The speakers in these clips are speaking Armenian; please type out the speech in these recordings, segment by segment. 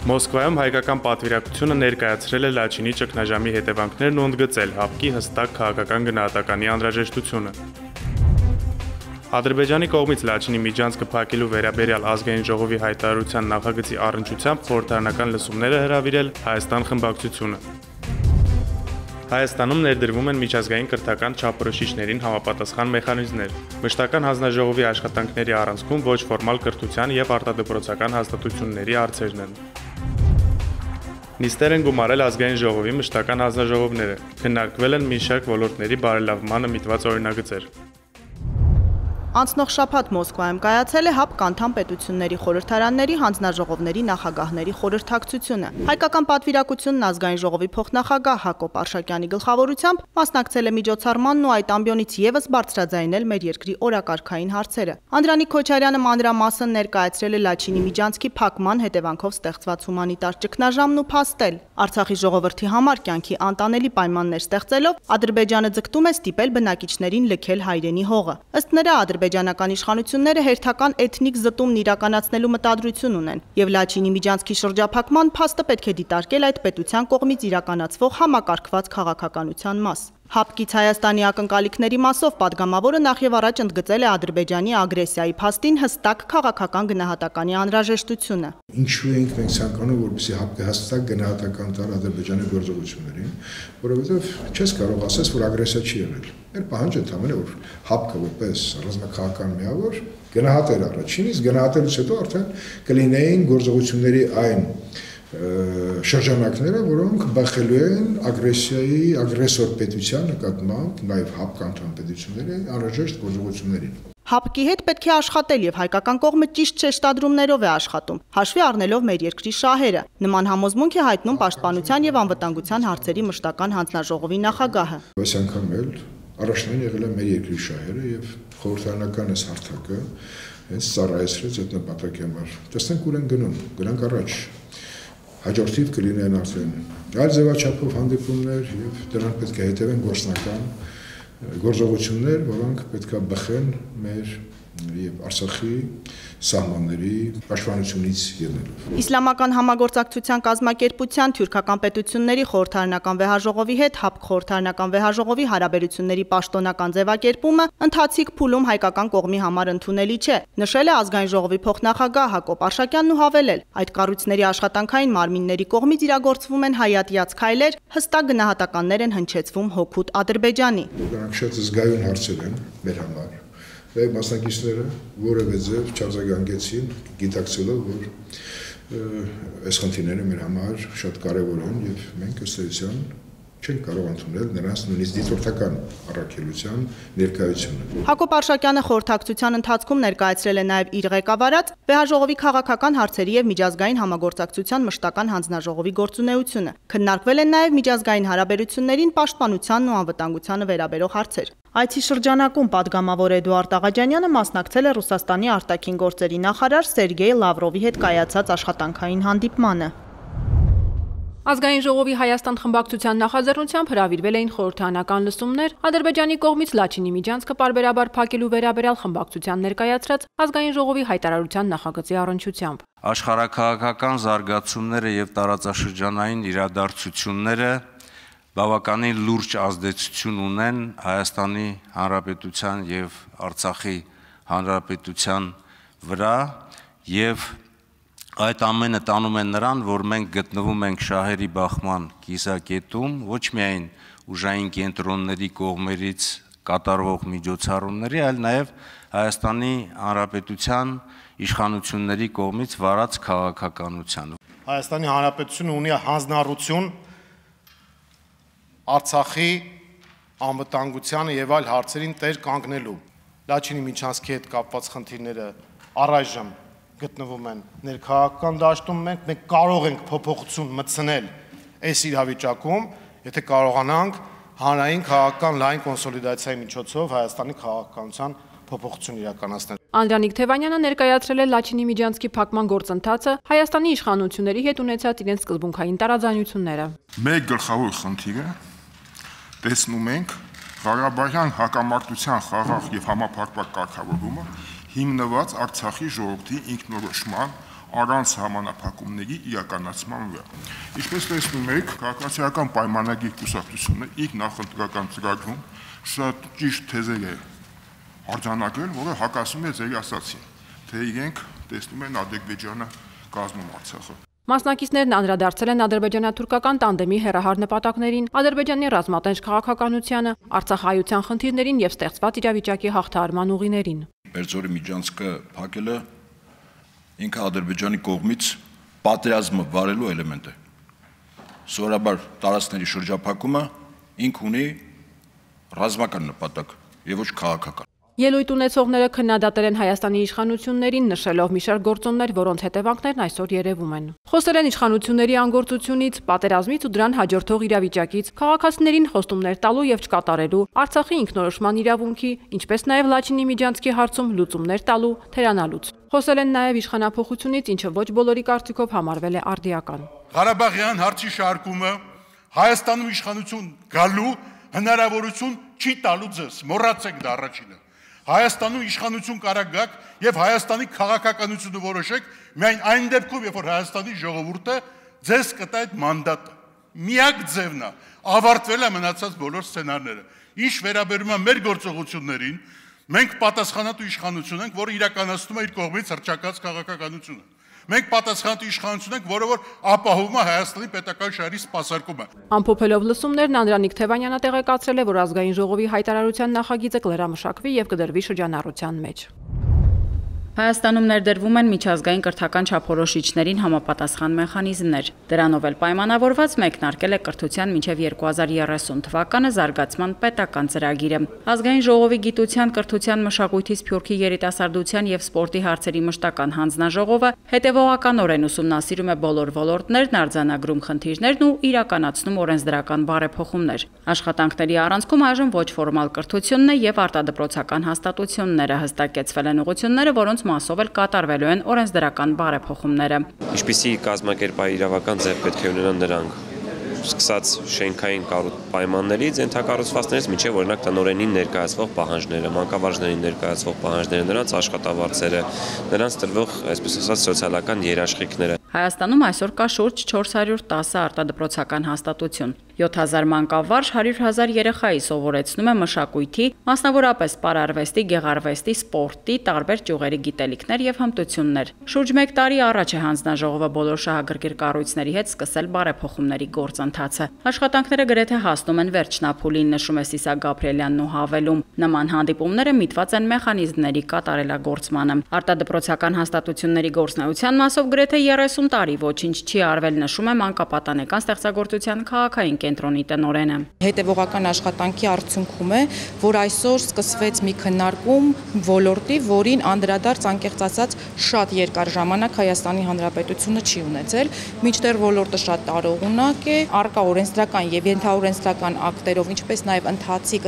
Մոսկվայում հայկական պատվիրակությունը ներկայացրել է Լաչինի ճգնաժամի հետևանքներն ու ընդգծել ՀԱՊԿ-ի հստակ քաղաքական գնահատականի անհրաժեշտությունը։ Ադրբեջանի կողմից Լաչինի միջանցքը փակելու վերաբերյալ ազգային ժողովի հայտարարության նախագծի առնչությամբ խորհրդարանական լսումները հրավիրել Հայաստան խմբակցությունը։ Հայաստանում ներդրվում են միջազգային կրթական չափորոշիչներին համապատասխան մեխանիզմներ։ Մշտական հանձնաժողովի աշխատանքների առանցքում ոչ ֆորմալ կրթության եւ արտադպրոցական հաստատությունների հարցերն են։ Նիստեր են գումարել ազգային ժողովի մշտական հանձնաժողովները, քննարկվել են մի շարք ոլորտների բարելավմանը միտված օրինագծեր։ Անցնող շաբաթ Մոսկվայում կայացել է ՀԱՊԿ անդամ պետությունների խորհրդարանների հանձնաժողովների նախագահների խորհրդակցությունը։ Հայկական պատվիրակությունն ազգային ժողովի փոխնախագահ Հակոբ Արշակյանի գլխավորությամբ մասնակցել է միջոցառմանն ու այդ ամբիոնից եւս բարձրաձայնել մեր երկրի օրակարգային հարցերը։ Անդրանիկ Քոչարյանը մանրամասն ներկայացրել է Լաչինի միջանցքի փակման հետևանքով ստեղծված հումանիտար ճգնաժամն ու փաստել։ Արցախի ժողովրդի համար կյանքի անտանելի պայմաններ ստեղծելով Ադրբեջանը ձգտում է ստիպել բնակիչներին լքել հայրենի հողը։ Ըստ նրա ադրբեջանական իշխանությունները հերթական էթնիկ զտումն իրականացնելու մտադրություն ունեն եւ Լաչինի միջանցքի շրջափակման փաստը պետք է դիտարկել այդ պետության կողմից իրականացվող համակարգված քաղաքականության մաս։ ՀԱՊԿ-ից Հայաստանի ակնկալիքների մասով падգամավորը նախ եւ առաջ ընդգծել է Ադրբեջանի ագրեսիայի փաստին հստակ քաղաքական գնահատականի անհրաժեշտությունը։ Ինչու ենք մենք ցանկանում, որպեսզի ՀԱՊԿ-ը հստակ գնահատական տար Ադրբեջանի գործողություններին, որովհետեւ չես կարող ասես, որ ագրեսիա չի եղել։ Մեր պահանջը ընդհանրապես որ ՀԱՊԿ-ը որպես ռազմաքաղաքական միավոր գնահատել առաջին, իսկ գնահատելուց հետո արդեն կլինեին գործողությունների այն շրջանակները, որոնք բախելու են ագրեսիայի, ագրեսոր պետության նկատմամբ, նաև ՀԱՊԿ անդամ պետությունների անհրաժեշտ գործողություններին։ ՀԱՊԿ-ի հետ պետք է աշխատել եւ հայկական կողմը ճիշտ շեշտադրումներով է աշխատում, հաշվի առնելով մեր երկրի շահերը։ Նման համոզմունք է հայտնում Պաշտպանության եւ անվտանգության հարցերի մշտական հանձնաժողովի նախագահը։ Այս անգամ էլ առաջնային եղել է մեր երկրի շահերը եւ խորհրդարանական այս հարթակը հենց ծառայեցրեց այդ նպատակի համար։ Տեսնենք ուր են գնում, գնանք առաջ։ Հաջորդիվ կլինեն արդեն այլ ձևաչափով հանդիպումներ եւ դրանք պետք է հետևեն գործնական գործողություններ, որոնք պետք է բխեն մեր եւ Արցախի սահմանների պաշտպանությունից ելնելով։ Իսլամական համագործակցության կազմակերպության թուրքական պետությունների խորհրդարանական վեհաժողովի հետ ՀԱՊԿ խորհրդարանական վեհաժողովի հարաբերությունների պաշտոնական ձևակերպումը ընթացիկ փուլում հայկական կողմի համար ընդունելի չէ, նշել է ազգային ժողովի փոխնախագահ Հակոբ Արշակյանն ու հավելել, այդ կառույցների աշխատանքային մարմինների կողմից իրագործվում են հայատյաց քայլեր, հստակ գնահատականներ են հնչեցվում հօգուտ Ադրբեջանի։ Դրանք շատ զգայուն հարցեր են մեր համար։ Այդ մասնակիցները որևէ ձև չարձագանքեցին, գիտակցելով, որ այս խնդիրները մեր համար շատ կարևոր են եւ մենք ըստ էության չենք կարող ընդունել նրանց նույնիսկ դիտորդական առաքելության ներկայությունը։ Հակոբ Արշակյանը խորհրդակցության ընթացքում ներկայացրել է նաև իր ղեկավարած վեհաժողովի քաղաքական հարցերի եւ միջազգային համագործակցության մշտական հանձնաժողովի գործունեությունը։ Քննարկվել են նաև միջազգային հարաբերություններին, պաշտպանությանն ու անվտանգությանը վերաբերող հարցեր։ Այցի շրջանակում падգամավոր Էդուարդ Աղաջանյանը մասնակցել է Ռուսաստանի արտաքին գործերի նախարար Սերգեյ Լավրովի հետ կայացած աշխատանքային հանդիպմանը։ Ազգային ժողովի Հայաստան խմբակցության նախաձեռնությամբ հրավիրվել էին խորհրդարանական լսումներ Ադրբեջանի կողմից Լաչինի միջանցքը պարբերաբար փակելու վերաբերյալ խմբակցության ներկայացրած ազգային ժողովի հայտարարության նախագծի առնչությամբ։ Աշխարհաքաղաքական զարգացումները եւ տարածաշրջանային իրադարձությունները բավականին լուրջ ազդեցություն ունեն Հայաստանի Հանրապետության եւ Արցախի Հանրապետության վրա եւ այդ ամենը տանում են նրան, որ մենք գտնվում ենք շահերի բախման կիսակետում, ոչ միայն ուժային կենտրոնների կողմերից կատարվող միջոցառումների, այլ նաև Հայաստանի Հանրապետության իշխանությունների կողմից վարած քաղաքականության։ Հայաստանի Հանրապետությունը ունի հանձնառություն Արցախի անվտանգությանը եւ այլ հարցերին տեր կանգնելու։ Լաչինի միջանցքի հետ կապված խնդիրները առայժմ գտնվում են ներքաղաքական դաշտում, մենք կարող ենք փոփոխություն մտցնել այս իրավիճակում, եթե կարողանանք հանրային քաղաքական լայն կոնսոլիդացիայի միջոցով Հայաստանի քաղաքականության փոփոխություն իրականացնել։ Անդրանիկ Թևանյանը ներկայացրել է Լաչինի միջանցքի փակման գործընթացը Հայաստանի իշխանությունների հետ ունեցած իրենց սկզբունքային տարաձայնությունները։ Մեկ գլխավոր խնդիրը տեսնում ենք Ղարաբաղյան հակամարտության խաղաղ եւ համապարփակ կարգավորումը հիմնված Արցախի ժողովրդի ինքնորոշման առանց համանախապակումների իրականացման վրա։ Ինչպես տեսնում եք, քաղաքացիական պայմանագիր կուսակցությունը իր նախընտրական ծրագրում շատ ճիշտ թեզեր է արձանագրել, որը հակասում է ձեր ասացին, թե իրենք տեսնում են Ադրբեջանը կազմում Արցախը։ Մասնակիցներն անդրադարձել են ադրբեջանա-թուրքական տանդեմի հեռահար նպատակներին, Ադրբեջանի ռազմատենչ քաղաքականությանը, Արցախայության խնդիրներին եւ ստեղծված իրավիճակի հաղթահարման ուղիներին։ Բերձորի միջանցքը փակելը ինքը Ադրբեջանի կողմից պատերազմը վարելու էլեմենտ է։ Սովորաբար տարածքների շրջափակումը ինք ունի ռազմական նպատակ եւ ոչ քաղաքական։ Ելույթ ունեցողները քննադատել են Հայաստանի իշխանություններին, նշելով մի շարք գործոններ, որոնց հետևանքներն այսօր երևում են։ Խոսել են իշխանությունների անգործությունից, պատերազմից ու դրան հաջորդող իրավիճակից, քաղաքացիներին խոստումներ տալու եւ չկատարելու, Արցախի ինքնորոշման իրավունքի, ինչպես նաեւ Լաչինի միջանցքի հարցում լուծումներ տալու, թերանալուց։ Խոսել են նաեւ իշխանափոխությունից, ինչը ոչ բոլորի կարծիքով համարվել է արդիական։ Ղարաբաղյան հարցի շարքումը Հայաստանում իշխանություն գալու հնարավորություն չի տալու ձեզ, մոռացեք դա առաջինը։ Հայաստանում իշխանություն կարա գաք եւ Հայաստանի քաղաքականությունը որոշեք միայն այն դեպքում, երբ որ Հայաստանի ժողովուրդը ձեզ կտա այդ մանդատը։ Միակ ձևն է, ավարտվել է մնացած բոլոր սցենարները։ Ինչ վերաբերում է մեր գործողություններին, մենք պատասխանատու իշխանություն ենք, որը իրականացնում է իր կողմից հռչակած քաղաքականությունը։ Մենք պատասխանատու իշխանություն ենք, որը որ ապահովում է Հայաստանի պետական շահերի սպասարկումը։ Ամփոփելով լսումներն Անդրանիկ Թևանյանը տեղեկացրել է, որ ազգային ժողովի հայտարարության նախագիծը կլրամշակվի եւ կդրվի շրջանառության մեջ։ Հայաստանում ներդրվում են միջազգային կրթական չափորոշիչներին համապատասխան մեխանիզմներ։ Դրանով էլ պայմանավորված մեկնարկել է կրթության մինչև 2030 թվականը զարգացման պետական ծրագիրը։ Ազգային ժողովի գիտության, կրթության, մշակույթի, սփյուռքի երիտասարդության եւ սպորտի հարցերի մշտական հանձնաժողովը հետևողականորեն ուսումնասիրում է բոլոր ոլորտներն, արձանագրում խնդիրներն ու իրականացնում օրենսդրական բարեփոխումներ։ Աշխատանքների առանցքում այժմ ոչ ֆորմալ կրթությունն է եւ արտադպրոցական հաստատությունները, հստակեցվել են ուղղությունները, որոնց մասով էլ կատարվելու են օրենսդրական բարեփոխումները։ Ինչպիսի կազմակերպային իրավական ձև պետք է ունենան նրանք, սկսած շենքային պայմաններից, ենթակառուցվածքներից մինչև օրինակ տնօրենին ներկայացվող պահանջները, մանկավարժներին ներկայացվող պահանջները, նրանց աշխատավարձերը, նրանց տրվող, այսպես ասած, սոցիալական երաշխիքները։ Հայաստանում այսօր կա շուրջ 410 արտադպրոցական հաստատություն։ 7000 մանկավարժ 100,000 երեխայի սովորեցնում է մշակույթի, մասնավորապես պարարվեստի, գեղարվեստի, սպորտի, տարբեր ճյուղերի գիտելիքներ եւ հմտություններ։ Շուրջ 1 տարի առաջ է հանձնաժողովը բոլոր շահագրգիռ կառույցների հետ սկսել բարեփոխումների գործընթացը։ Աշխատանքները գրեթե հասնում են վերջնափուլին, նշում է Սիսակ Գաբրիելյանն ու հավելում։ Նման հանդիպումները միտված են մեխանիզմների կատարելագործմանը։ Արտադպրոցական հաստատությունների գործնեության մասով գրեթե 30 տարի ոչինչ չի արվել, նշում է մանկապատանեկան ստեղծագործության քաղաքային կենտրոնի տնօրենը։ Հետևողական աշխատանքի արդյունքում է, որ այսօր սկսվեց մի քննարկում ոլորտի, որին անդրադարձ անկեղծ ասած շատ երկար ժամանակ Հայաստանի Հանրապետությունը չի ունեցել, մինչդեռ ոլորտը շատ տարողունակ է, առկա օրենսդրական եւ ենթաօրենսդրական ակտերով, ինչպես նաեւ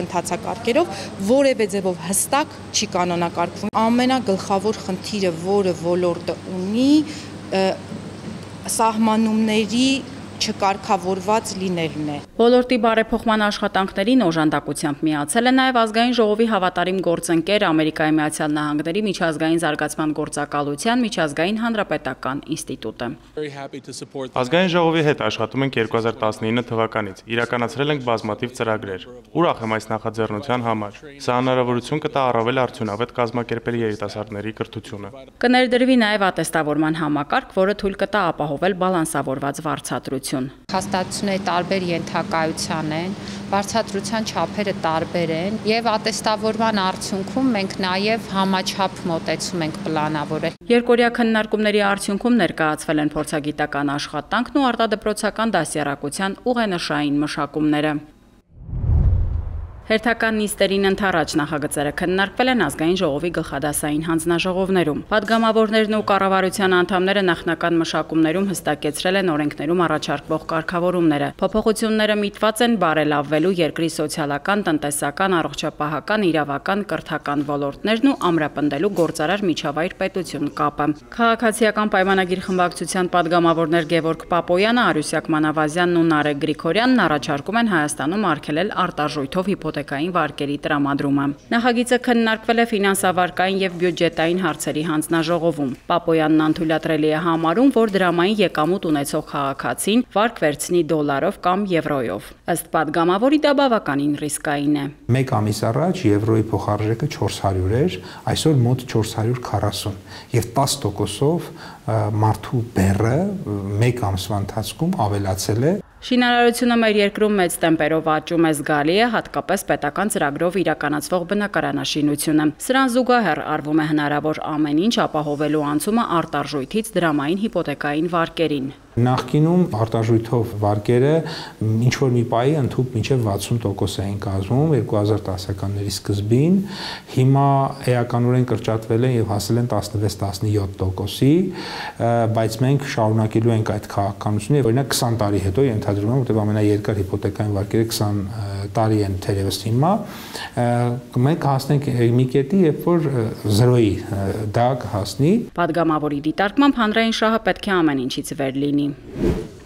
ընթացակարգերով որևէ ձևով հստակ չի կանոնակարգվում։ Ամենագլխավոր խնդիրը, որը ոլորտը ունի, սահմանումների չկարգավորված լինելն է։ Ոլորտի բարեփոխման աշխատանքներին օժանդակությամբ միացել է նաև ազգային ժողովի հավատարիմ գործընկեր Ամերիկայի Միացյալ Նահանգների միջազգային զարգացման գործակալության միջազգային հանրապետական ինստիտուտը։ Ազգային ժողովի հետ աշխատում ենք 2019 թվականից։ Իրականացրել ենք բազմաթիվ ծրագրեր։ Ուրախ եմ այս նախաձեռնության համար։ Սա հնարավորություն կտա առավել արդյունավետ կազմակերպել երիտասարդների կրթությունը։ Կներդրվի նաև ատեստավորման համակարգ, որը թույլ կտա ապահովել բալանսավորված վարձատրություն։ Հաստատությունների տարբեր ենթակայության են, վարձատրության չափերը տարբեր են եւ ատեստավորման արդյունքում մենք նաեւ համաչափ մոտեցում ենք պլանավորել։ Երկօրյա քննարկումների արդյունքում ներկայացվել են փորձագիտական աշխատանքն ու արտադպրոցական դասյարակության ուղենշային մշակումները։ Հերթական նիստերին ընթառաջ նախագծերը քննարկվել են ազգային ժողովի գլխադասային հանձնաժողովներում։ Պատգամավորներն ու կառավարության անդամները նախնական մշակումներում հստակեցրել են օրենքներում առաջարկվող կարգավորումները։ Փոփոխությունները միտված են բարելավելու երկրի սոցիալական, տնտեսական, առողջապահական, իրավական, կրթական ոլորտներն ու ամրապնդելու գործարար միջավայր պետություն կապը։ Քաղաքացիական պայմանագիր խմբակցության պատգամավորներ Գևորգ Պապոյանը, Արուսյակ Մանավազյանն ու Նարեկ Գրիգորյանն առաջարկում են Հայաստանում արգելել արտարժույթով հիպոթեկարներ հիպոթեկային վարկերի տրամադրումը։ Նախագիծը քննարկվել է ֆինանսավարկային եւ բյուջետային հարցերի հանձնաժողովում։ Պապոյանն անթույլատրելի է համարում, որ դրամային եկամուտ ունեցող քաղաքացին վարկ վերցնի դոլարով կամ եվրոյով։ Ըստ падգամավորի դա բավականին ռիսկային է։ Մեկ ամիս առաջ եվրոյի փոխարժեքը 400 էր, այսօր մոտ 440 եւ 10%-ով մարդու բեռը մեկ ամսվա ընթացքում ավելացել է։ Շինարարությունը մեր երկրում մեծ տեմպերով աճում է զգալի է, հատկապես պետական ծրագրով իրականացվող բնակարանաշինությունը։ Սրան զուգահեռ արվում է հնարավոր ամեն ինչ ապահովելու անցումը արտարժույթից դրամային հիպոթեկային վարկերին։ Նախկինում արտարժույթով վարկերը ինչ որ մի պայի ընդհանուր մինչև 60% էին կազմում 2010-ականների սկզբին, հիմա էականորեն կրճատվել են եւ հասել են 16-17%-ի, բայց մենք շարունակելու ենք այդ քաղաքականությունը, օրինակ 20 տարի հետո ենթադրում եմ, որտեղ ամենաերկար հիպոթեկային վարկերը 20 տարի են թերևս հիմա, մենք հասնենք մի կետի, երբ որ 0-ի դա կհասնի։ Падգամավորի դիտարկմամբ հանրային շահը պետք է ամեն ինչից վեր լինի։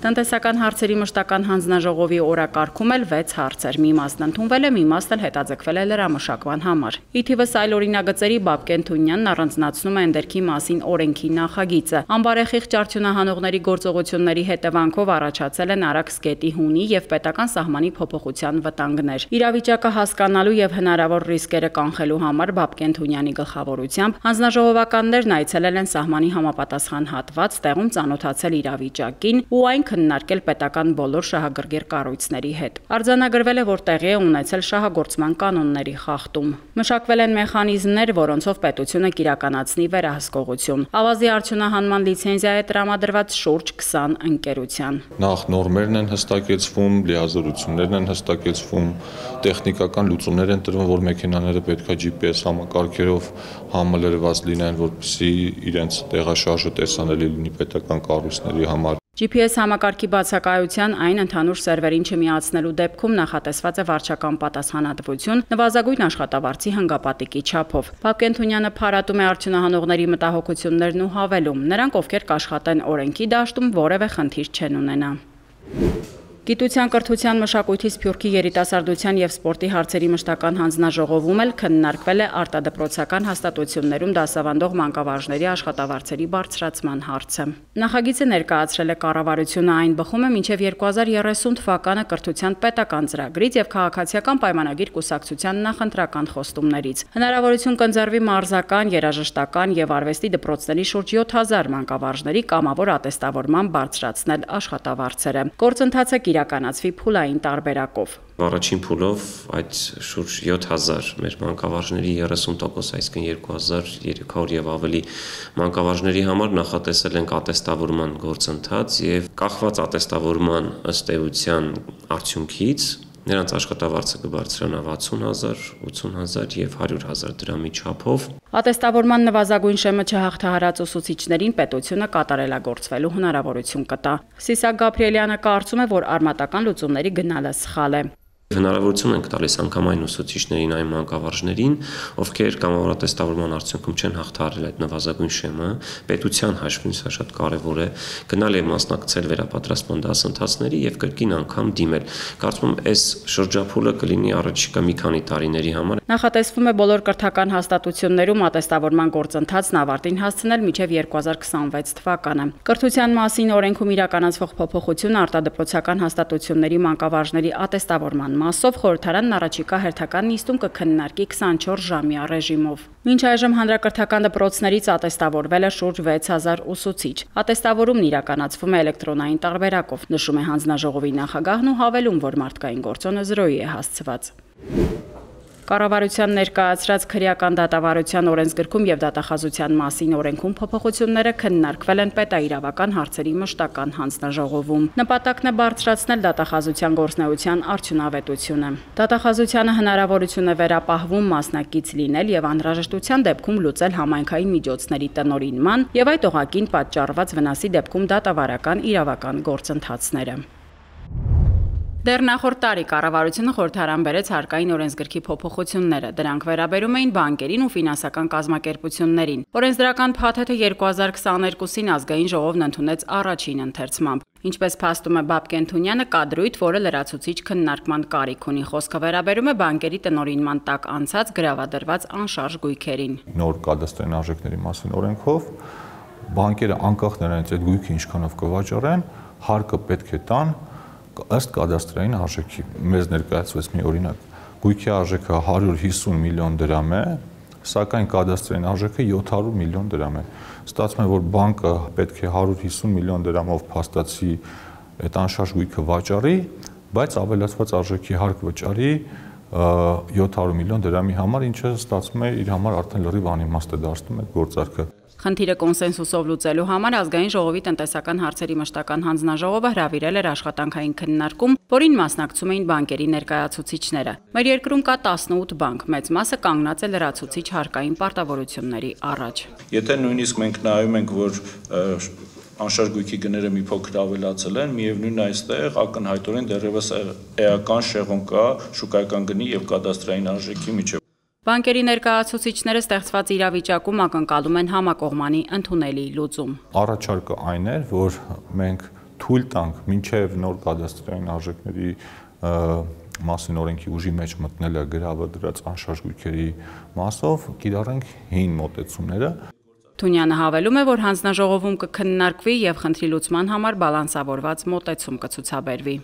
Տնտեսական հարցերի մշտական հանձնաժողովի օրակարգում էլ 6 հարցեր, մի մասն ընդունվել է, մի մասն էլ հետաձգվել է լրամշակման համար։ Ի թիվս այլ օրինագծերի Բաբկեն Թունյանն առանձնացնում է ընդերքի մասին օրենքի նախագիծը։ Անբարեխիղճ արդյունահանողների գործողությունների հետևանքով առաջացել են Արաքսգետի հունի եւ պետական սահմանի փոփոխության վտանգներ։ Իրավիճակը հասկանալու եւ հնարավոր ռիսկերը կանխելու համար Բաբկեն Թունյանի գլխավորությամբ հանձնաժողովականներն այցելել են սահմանի համապատասխան հատված, տեղում ծանոթացել իրավիճակին ու այն քննարկել պետական բոլոր շահագրգիռ կառույցների հետ։ Արձանագրվել է, որ տեղի է ունեցել շահագործման կանոնների խախտում։ Մշակվել են մեխանիզմներ, որոնցով պետությունը կիրականացնի վերահսկողություն։ Ավազի արդյունահանման լիցենզիա է տրամադրված շուրջ 20 ընկերության։ Նախ նորմերն են հստակեցվում, լիազորություններն են հստակեցվում, տեխնիկական լուծումներ են տրվում, որ մեքենաները պետքա GPS համակարգերով համալրված լինեն, որպեսզի իրենց տեղաշարժը տեսանելի լինի պետական կառույցների համար։ GPS համակարգի բացակայության այն ընդհանուր սերվերին չմիացնելու դեպքում նախատեսված է վարչական պատասխանատվություն նվազագույն աշխատավարձի հանգապատիկի չափով։ Բաբկեն Թունյանը փառատում է արդյունահանողների մտահոգություններն ու հավելում. նրանք, ովքեր կաշխատեն օրենքի դաշտում, որևէ խնդիր չեն ունենա։ Գիտության, կրթության, մշակույթի, սփյուռքի, երիտասարդության եւ սպորտի հարցերի մշտական հանձնաժողովում էլ քննարկվել է արտադպրոցական հաստատություններում դասավանդող մանկավարժների աշխատավարձերի բարձրացման հարցը։ Նախագիծը ներկայացրել է կառավարությունը, այն բխում է մինչև 2030 թվականը կրթության պետական ծրագրից եւ քաղաքացիական պայմանագիր կուսակցության նախընտրական խոստումներից։ Հնարավորություն կընձեռվի մարզական, երաժշտական եւ արվեստի դպրոցների շուրջ 7000 մանկավարժների կամավոր ատեստավորման բարձրացնել աշխատավարձերը։ Գործընթացը իրականացվի փուլային տարբերակով։ Առաջին փուլով այդ շուրջ 7000 մեր մանկավարժների 30%, այսինքն 2300 եւ ավելի մանկավարժների համար նախատեսել ենք ատեստավորման գործընթաց եւ կախված ատեստավորման ըստ էության արդյունքից նրանց աշխատավարձը կբարձրանա 60000, 80000 եւ 100000 դրամի չափով։ Ատեստավորման նվազագույն շեմը չհաղթահարած ուսուցիչներին պետությունը կատարելագործվելու հնարավորություն կտա։ Սիսակ Գաբրիելյանը կարծում է, որ արմատական լուծումների գնալը սխալ է։ Հնարավորություն ենք տալիս անգամ այն ուսուցիչներին, այն մանկավարժներին, ովքեր կամավոր ատեստավորման արդյունքում չեն հաղթահարել այդ նվազագույն շեմը, պետության հաշվին սա շատ կարևոր է, գնալ եւ մասնակցել վերապատրաստման դասընթացների եւ կրկին անգամ դիմել։ Կարծում եմ, այս շրջափուլը կլինի առաջիկա մի քանի տարիների համար։ Նախատեսվում է բոլոր կրթական հաստատություններում ատեստավորման գործընթացն ավարտին հասցնել մինչև 2026 թվականը։ Կրթության մասին օրենքում իրականացվող փոփոխությունը արտադպրոցական հաստատությունների մանկավարժների ատեստավորման մասով խորհրդարանն առաջիկա հերթական նիստում կքննարկի 24 ժամյա ռեժիմով։ Մինչ այժմ հանրակրթական դպրոցներից ատեստավորվել է շուրջ 6000 ուսուցիչ։ Ատեստավորումն իրականացվում է էլեկտրոնային տարբերակով, նշում է հանձնաժողովի նախագահն ու հավելում, որ մարդկային գործոնը 0-ի է հասցված։ Կառավարության ներկայացրած քրեական դատավարության օրենսգրքում եւ դատախազության մասին օրենքում փոփոխությունները քննարկվել են պետաիրավական հարցերի մշտական հանձնաժողովում։ Նպատակն է բարձրացնել դատախազության գործունեության արդյունավետությունը։ Դատախազությանը հնարավորություն է վերապահվում մասնակից լինել եւ անհրաժեշտության դեպքում լուծել համայնքային միջոցների տնօրինման եւ այդ օղակին պատճառված վնասի դեպքում դատավարական իրավական գործընթացները։ Դեռ նախորդ տարի կառավարությունը խորհրդարան բերեց հարկային օրենսգրքի փոփոխությունները։ Դրանք վերաբերում էին բանկերին ու ֆինանսական կազմակերպություններին։ Օրենսդրական փաթեթը 2022-ին ազգային ժողովն ընդունեց առաջին ընթերցմամբ։ Ինչպես փաստում է Բաբկեն Թունյանը, կա դրույթ, որը լրացուցիչ քննարկման կարիք ունի։ Խոսքը վերաբերում է բանկերի տնօրինման տակ անցած գրավադրված անշարժ գույքերին։ Նոր կադաստրային արժեքների մասին օրենքով բանկերը անկախ նրանից այդ գույքը ինչքանով կվաճառեն, հարկը պետք է տան ըստ կադաստրային արժեքի։ Մեզ ներկայացվեց մի օրինակ, գույքի արժեքը 150 միլիոն դրամ է, սակայն կադաստրային արժեքը 700 միլիոն դրամ է։ Ստացվում է, որ բանկը պետք է 150 միլիոն դրամով փաստացի այդ անշարժ գույքը վաճառի, բայց ավելացված արժեքի հարկ վճարի 700 միլիոն դրամի համար, ինչը ստացվում է իր համար արդեն լրիվ անիմաստ է դարձնում այդ գործարքը։ Խնդիրը կոնսենսուսով լուծելու համար ազգային ժողովի տնտեսական հարցերի մշտական հանձնաժողովը հրավիրել էր աշխատանքային քննարկում, որին մասնակցում էին բանկերի ներկայացուցիչները։ Մեր երկրում կա 18 բանկ, մեծ մասը կանգնած է լրացուցիչ հարկային պարտավորությունների առաջ։ Եթե նույնիսկ մենք նայում ենք, որ անշարժ գույքի գները մի փոքր ավելացել են, միևնույն այստեղ ակնհայտորեն դեռևս էական շեղում կա շուկայական գնի եւ կադաստրային արժեքի միջեւ։ Բանկերի ներկայացուցիչները ստեղծված իրավիճակում ակնկալում են համակողմանի ընդունելի լուծում։ Առաջարկը այն էր, որ մենք թույլ տանք մինչև նոր կադաստրային արժեքների մասին օրենքի ուժի մեջ մտնելը գրավադրած անշարժ գույքերի մասով կիրառենք հին մոտեցումները։ Թունյանը հավելում է, որ հանձնաժողովում կքննարկվի եւ խնդրի լուծման համար բալանսավորված մոտեցում կցուցաբերվի։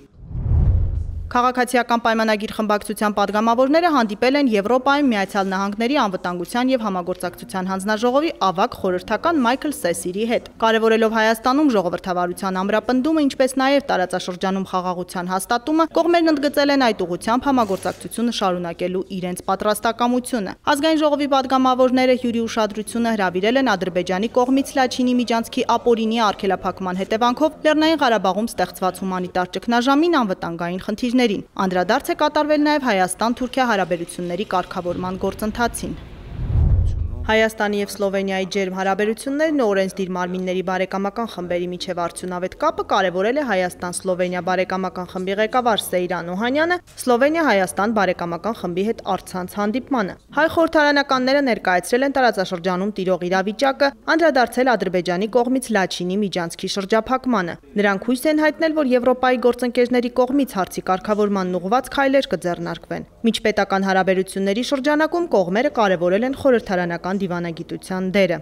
Քաղաքացիական պայմանագիր խմբակցության падգամավորները հանդիպել են Եվրոպայում Միացյալ Նահանգների անվտանգության եւ համագործակցության հանձնաժողովի ավագ խորհրդական Մայքլ Սեսիրի հետ։ Կարևորելով Հայաստանում ժողովրդավարության ամրապնդումը, ինչպես նաեւ տարածաշրջանում խաղաղության հաստատումը, կողմերն ընդգծել են այդ ուղղությամբ համագործակցությունը շարունակելու իրենց պատրաստակամությունը։ Ազգային ժողովի падգամավորները հյուրի ուշադրությունը հրավիրել են Ադրբեջանի կողմից Լաչինի միջանցքի ապօրինի արգելափակման հետևանքով Լեռնային Ղարաբաղում ստեղծված հումանիտար ճգնաժամին անվտանգային խնդիրներ Անդրադարձ է կատարվել նաև Հայաստան-Թուրքիա հարաբերությունների կարգավորման գործընթացին։ Հայաստանի եւ Սլովենիայի ջերմ հարաբերություններն ու օրենսդիր մարմինների բարեկամական խմբերի միջև արդյունավետ կապը կարևորել է Հայաստան-Սլովենիա բարեկամական խմբի ղեկավար Սեյրան Օհանյանը Սլովենիա-Հայաստան բարեկամական խմբի հետ առցանց հանդիպմանը։ Հայ խորհրդարանականները ներկայացրել են տարածաշրջանում տիրող իրավիճակը, անդրադարձել Ադրբեջանի կողմից Լաչինի միջանցքի շրջափակմանը։ Նրանք հույս են հայտնել, որ Եվրոպայի գործընկերների կողմից հարցի կարգավորման ուղղված քայլեր կձեռնարկվեն։ Միջպետական հարաբերությունների շրջանակում կողմերը կարևորել են խորհրդարանական դիվանագիտության դերը։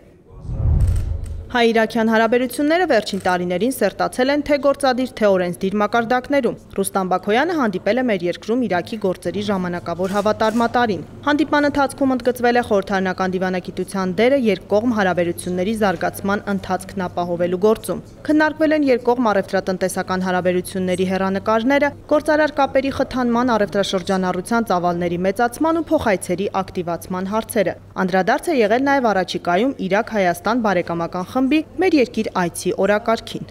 Հայ-իրաքյան հարաբերությունները վերջին տարիներին սերտացել են թե գործադիր, թե օրենսդիր մակարդակներում։ Ռուստամ Բաքոյանը հանդիպել է մեր երկրում Իրաքի գործերի ժամանակավոր հավատարմատարին։ Հանդիպման ընթացքում ընդգծվել է խորհրդարանական դիվանագիտության դերը երկկողմ հարաբերությունների զարգացման ընթացքն ապահովելու գործում։ Քննարկվել են երկկողմ առևտրատնտեսական հարաբերությունների հեռանկարները, գործարար կապերի խթանման, առևտրաշրջանառության ծավալների մեծացման ու փոխայցերի ակտիվացման հարցերը։ Անդրադարձ է եղել նաև առաջիկայում Իրաք-Հայաստան բարեկամական խմբի մեր երկիր այցի օրակարգին։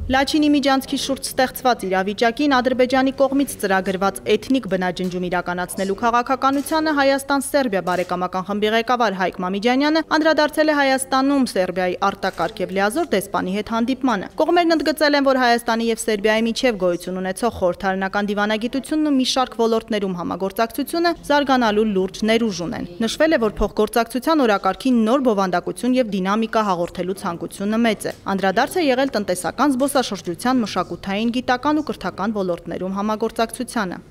Լաչինի միջանցքի շուրջ ստեղծված իրավիճակին Ադրբեջանի կողմից ծրագրված էթնիկ բնաջնջում իրականացնելու քաղաքականությանը Հայաստան-Սերբիա բարեկամական խմբի ղեկավար Հայկ Մամիջանյանը անդրադարձել է Հայաստանում Սերբիայի արտակարգ եւ լիազոր դեսպանի հետ հանդիպմանը։ Կողմերն ընդգծել են, որ Հայաստանի եւ Սերբիայի միջև գոյություն ունեցող խորհրդարանական դիվանագիտությունն ու մի շարք ոլորտներում համագործակցությունը զարգանալու լուրջ ներուժ ունեն։ Նշվել է, որ փոխգործակցության օրակարգին նոր բովանդակություն եւ դինամիկա հաղորդելու ցանկությունը մեծ է։ Անդրադարձ է եղել տնտեսական զբոսաշրջության, մշակութային, գիտական ու կրթական ոլորտներում համագործակցությանը։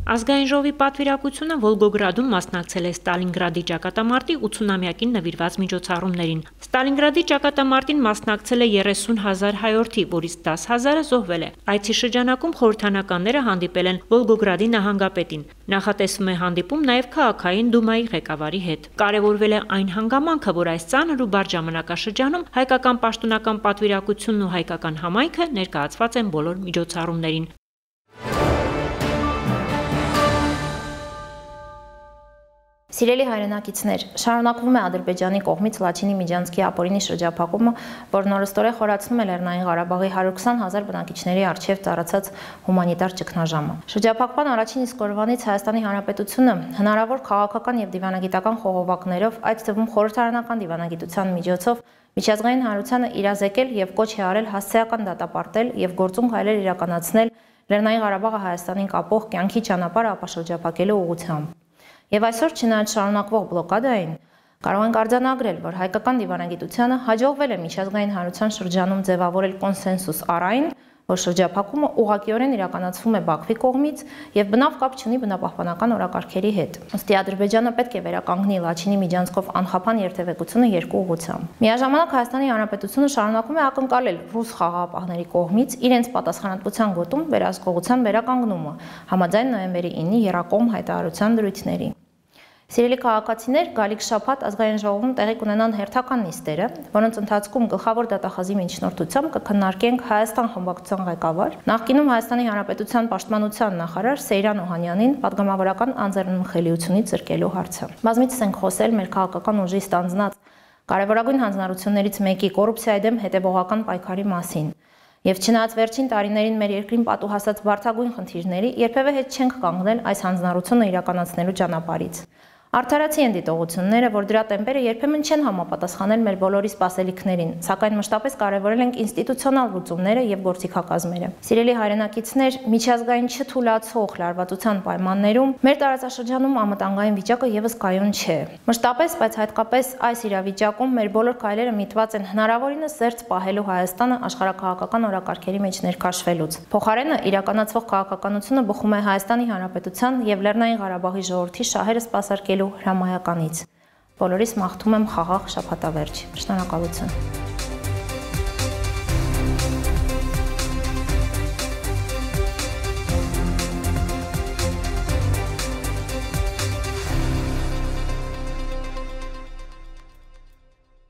Ազգային ժողովի պատվիրակությունը Վոլգոգրադում մասնակցել է Ստալինգրադի ճակատամարտի 80-ամյակին նվիրված միջոցառումներին։ Ստալինգրադի ճակատամարտին մասնակցել է 30,000 հայորդի, որից 10,000-ը զոհվել է։ Այցի շրջանակում խորհրդարանականները հանդիպել են Վոլգոգրադի նահանգապետին։ Նախատեսվում է հանդիպում նաև քաղաքային դումայի ղեկավարի հետ։ Կարևորվել է այն հանգամանքը, որ այս ծանր ու բարդ ժամանակաշրջանում հայկական պաշտոնական պատվիրակությունն ու հայկական համայնքը ներկայացված են բոլոր միջոցառումներին։ Սիրելի հայրենակիցներ, շարունակվում է Ադրբեջանի կողմից Լաչինի Միջանցքի ապօրինի շրջափակումը, որն օրըստօրե խորացնում է Լեռնային Ղարաբաղի 120,000 բնակիչների առջև ծառացած հումանիտար ճգնաժամը։ Շրջափակման առաջին իսկ օրվանից Հայաստանի Հանրապետությունը հնարավոր քաղաքական եւ դիվանագիտական խողովակներով, այդ թվում խորհրդարանական դիվանագիտության միջոցով միջազգային հանրությանը իրազեկել եւ կոչ է արել հասցեական դատապարտել եւ գործուն քայլեր իրականացնել Լեռնային Ղարաբաղը Հայաստանին կապող կյանքի ճանապարհը ապաշրջափակելու ուղղությամբ։ Եվ այսօր չնայած շարունակվող բլոկադային, կարող ենք արձանագրել, որ հայկական դիվանագիտությանը հաջողվել է միջազգային հանրության շրջանում ձևավորել կոնսենսուս առ այն, որ շրջափակումը ուղղակիորեն իրականացվում է Բաքվի կողմից եւ բնավ կապ չունի բնապահպանական օրակարգերի հետ։ Ըստ Ադրբեջանը պետք է վերականգնի Լաչինի միջանցքով անխափան երթևեկությունը երկու ուղղությամբ։ Միաժամանակ Հայաստանի Հանրապետությունը շարունակում է ակնկալել ռուս խաղաղապահների կողմից իրենց պատասխանատվության գոտում վերահսկողության վերականգնումը, համաձայն նոյեմբերի 9-ի Եռակողմ հայտարարության դրույթների։ Սիրելի քաղաքացիներ, գալիք շաբաթ ազգային ժողովում տեղի կունենան հերթական նիստերը, որոնց ընթացքում գլխավոր դատախազի միջնորդությամբ կքննարկենք Հայաստան խմբակցության ղեկավար, նախկինում Հայաստանի Հանրապետության պաշտպանության նախարար Սեյրան Օհանյանին պատգամավորական անձեռնմխելիությունից զրկելու հարցը։ Բազմիցս ենք խոսել մեր քաղաքական ուժի ստանձնած կարևորագույն հանձնառություններից մեկի կոռուպցիայի դեմ հետևողական պայքարի մասին։ Եվ չնայած վերջին տարիներին մեր երկրին պատուհասած բարդագույն խնդիրների, երբևէ հետ չենք կանգնել այս հանձնառությունը իրականացնելու ճանապարհից։ Արդարացի են դիտողությունները, որ դրա տեմպերը երբեմն չեն համապատասխանել մեր բոլորի սպասելիքներին, սակայն մշտապես կարևորել ենք ինստիտուցիոնալ լուծումները եւ գործիքակազմերը։ Սիրելի հայրենակիցներ, միջազգային չթույլացող լարվածության պայմաններում մեր տարածաշրջանում անվտանգային վիճակը եւս կայուն չէ։ Մշտապես, բայց հատկապես այս իրավիճակում մեր բոլոր քայլերը միտված են հնարավորինս զերծ պահելու Հայաստանը աշխարհակաղակական օրակարգերի մեջ ներքաշվելուց։ Փոխարենը իրականացվող քաղաքականությունը բխում է Հայաստանի Հանրապետության եւ Լեռնային Ղարաբաղի ժողովրդի շահերը սպասարկելու հրամայականից։ Բոլորիս մաղթում եմ խաղաղ շաբաթավերջ։ Շնորհակալություն։